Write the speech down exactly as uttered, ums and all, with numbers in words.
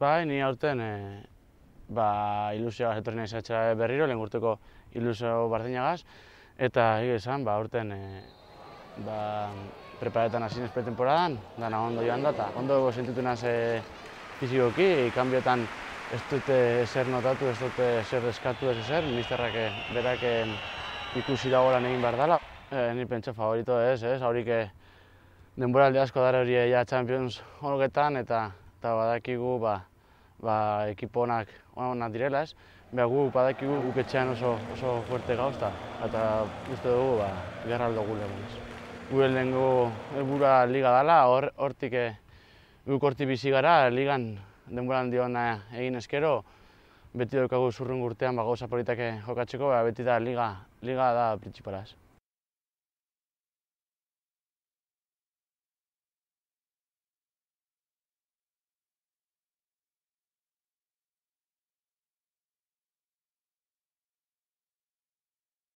Bai, ni aurten e, ba, ilusioa etorri naiz etxera berriro, lehen urteko ilusio bardinagaz, eta egia esan, ba, aurten e, ba, preparetan hasi naiz pretemporadan, dana ondo joan da, eta ondo sentitu naiz e, fizikoki, kanbiotan ez dute ezer notatu, ez dute ezer eskatu, ez ezer, misterrak e, berak e, ikusi dagoelan egin behar dela. E, ni pentsa favorito ez, ez, haurik e, denboraldi asko dara hori ja Champions honetan, eta, eta badakigu ba, ba, ekipo onak onak direla ez. Beha gu badakigu guk etxean oso, oso fuerte gauzta, eta uste dugu ba, gerra aldo gule. Gure lehenko helburua liga dela, hor, hortik e, guk hortik bizi gara, ligan denboraldi ona egin eskero, beti daukagu zurrungo urtean ba, gauza politak jokatzeko, ba, beti da liga, liga da printzipala ez.